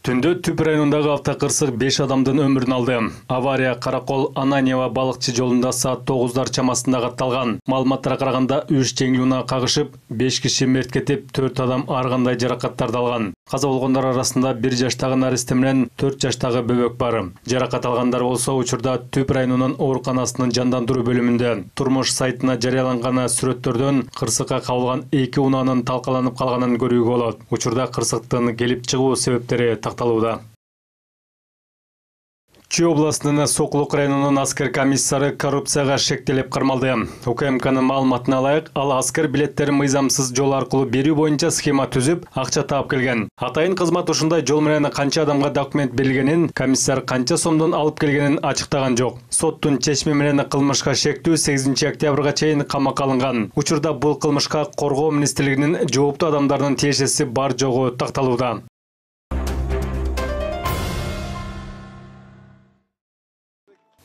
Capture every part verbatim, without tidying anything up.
Түндө Түп районундагы автокырсык беш адамдын өмүрүн алды. Авария Каракол Ананьева балыкчы жолунда саат тогуздар чамасында катталган. Маалыматтарга караганда үч жеңил унаа кагышып, беш киши мерт кетип, төрт адам ар кандай жаракаттарды алган. Каза болгондор арасында бир жаштагы наристе менен төрт жаштагы бөбөк бар. Жаракат алгандар болсо учурда Түп районунун ооруканасынын жандандыруу бөлүмүндө. Турмуш сайтына жарыяланган сүрөттөрдөн кырсыкка кабылган эки унаанын талкаланып калганын көрүүгө болот. Учурда кырсыктын келип чыгуу себептери такталууда. Чүй областынын Сокулук районунун аскер комиссары коррупцияга шектелип кармалды. УКМКнын маалыматына ылайык, ал аскер билеттерин мыйзамсыз жол аркылуу берүү боюнча схема түзүп, акча таап келген. Атайын кызмат ушундай жол менен канча адамга документ берилгенин, комиссар канча сомдон алып келгенин ачыктаган жок. Соттун чечими менен кылмышка шектүү сегизинчи октябрга чейин камакка алынган. Учурда бул кылмышка Коргоо министрлигинин жооптуу адамдарынын тиешеси бар жогу такталууда.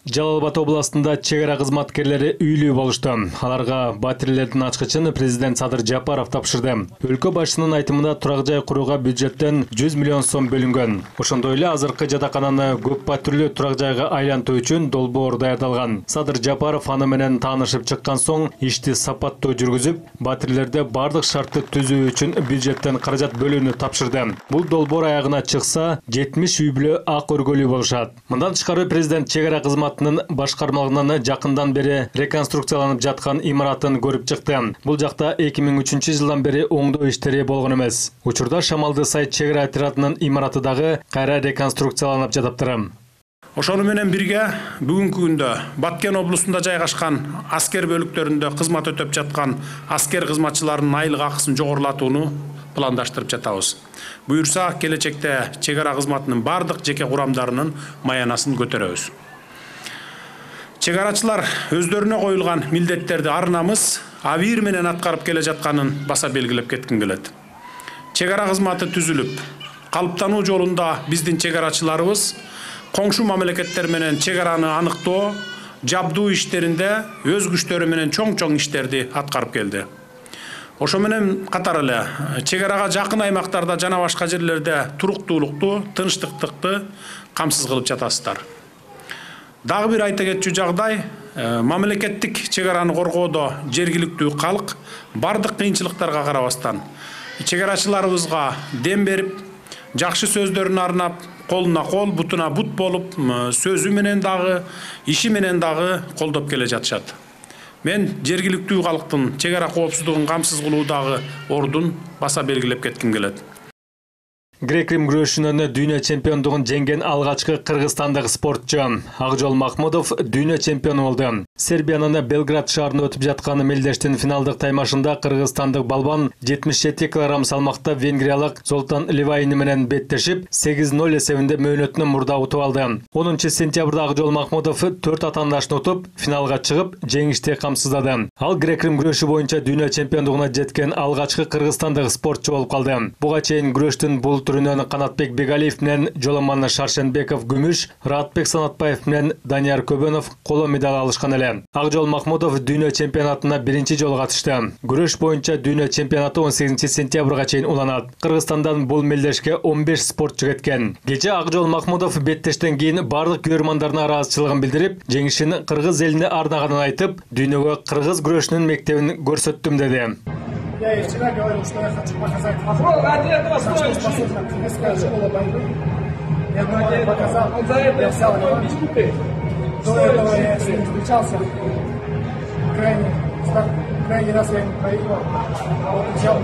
Жалал Абад областында чек ара кызматкерлери үйлүү болушту. Аларга батирелердин ачкычын президент Садыр Жапаров тапшырды. Өлкө башчынын айтымында турак жай курууга бюджеттен жүз миллион сом бөлүнгөн. Ошондой эле азыркы жатакананы көп батирлүү турак жайга айлантуу үчүн долбоор даярдалган. Садыр Жапаров аны менен таанышып чыккан соң ишти сапаттуу жүргүзүп, батирлерде бардык шартты түзүү үчүн бюджеттен каражат бөлүүнү тапшырды. Бул долбоор аягына чыкса, жетимиш үй бүлө ак өргөлүү болушат. Мындан тышкары президент чек ара кызмат башкармалыгынан жакындан бери реконструкцияланып жаткан имаратын көрүп чыкты. Бул жакта эки миң үчүнчү жылдан бери оңдоо иштери болгон эмес. Учурда Шамалды сайт чек ара отрядынын имараты дагы кайра реконструкцияланып жатыптыр. Ошону менен бирге бүгүнкү күндө Баткен облусунда жайгашкан аскер бөлүктөрүндө кызмат өтөп жаткан аскер кызматчыларынын айлык акысын жогорулатууну пландаштырып жатабыз. Буюрса, келечекте чек ара кызматынын бардык жеке курамдарынын маянасын көтөрөбүз. Чек арачылар өздөрүнө коюлган милдеттерди ар намыс, абийир менен аткарып келе жатканын баса белгилеп кетким келет. Чек ара кызматы түзүлүп, калыптануу жолунда биздин чек арачыларыбыз коңшу мамлекеттер менен чек араны аныктоо, жабдуу иштеринде өз күчтөрү менен чоң-чоң иштерди аткарып келди. Ошо менен катар эле чек арага жакын аймактарда жана башка жерлерде туруктуулукту, тынчтыктыкты камсыз кылып жатасыздар. Дагы бир айта кетчү жагдай, мамлекеттик чек араны коргоодо жергиликтүү калк бардык кыйынчылыктарга карабастан чек арачыларыбызга дем берип, жакшы сөздөрүн арнап, колуна кол, бутуна бут болуп, сөзү менен дагы, иши менен дагы колдоп келе жатышат. Мен жергиликтүү калктын чек ара коопсуздугун камсыз кылуудагы ордун баса белгилеп кетким келет. Грек-рим күрөшүнөн дүйнө чемпиондугун жеңген алгачкы кыргызстандык спортчу Акжол Махмудов дүйнө чемпиону болду. Сербиянын Белград шаарында өтүп жаткан мелдештин финалдык таймашында кыргызстандык балбан жетимиш жети килограмм салмакта венгриялык Золтан Ливайни менен беттешип, сегиз ноль эсебинде мөөнөтүнөн мурда утуп алды. онунчу сентябрда Акжол Махмудов төрт атаандашын утуп, финалга чыгып, жеңишти камсыздады. Ал грек-рим күрөшү боюнча дүйнө чемпиондугуна жеткен алгачкы кыргызстандык спортчу болуп калды. Буга чейин күрөштүн бул түрүнөн Канатбек Бегалиев менен Жоломан Шаршенбеков күмүш, Раатбек Санатбаев менен Данияр Көбөнов коло медаль алышкан эле. Акжол Махмудов дүйнө чемпионатына биринчи жолу катышты. Күрөш боюнча дүйнө чемпионаты он сегизинчи сентябрга чейин уланат. Кыргызстандан бул мелдешке он беш спортчу кеткен. Кече Акжол Махмудов беттештен кийин бардык көрөрмандарына ыраазычылыгын билдирип, жеңишин кыргыз элине арнаганын айтып, дүйнөгө кыргыз күрөшүнүн мектебин көрсөттүм деди. Я и вчера говорил, что я хочу показать на что способна кыргызская школа борьбы. Я думаю, показал, я взял его. До этого я с ним встречался. Крайний, крайний раз я ему проиграл. Вот взял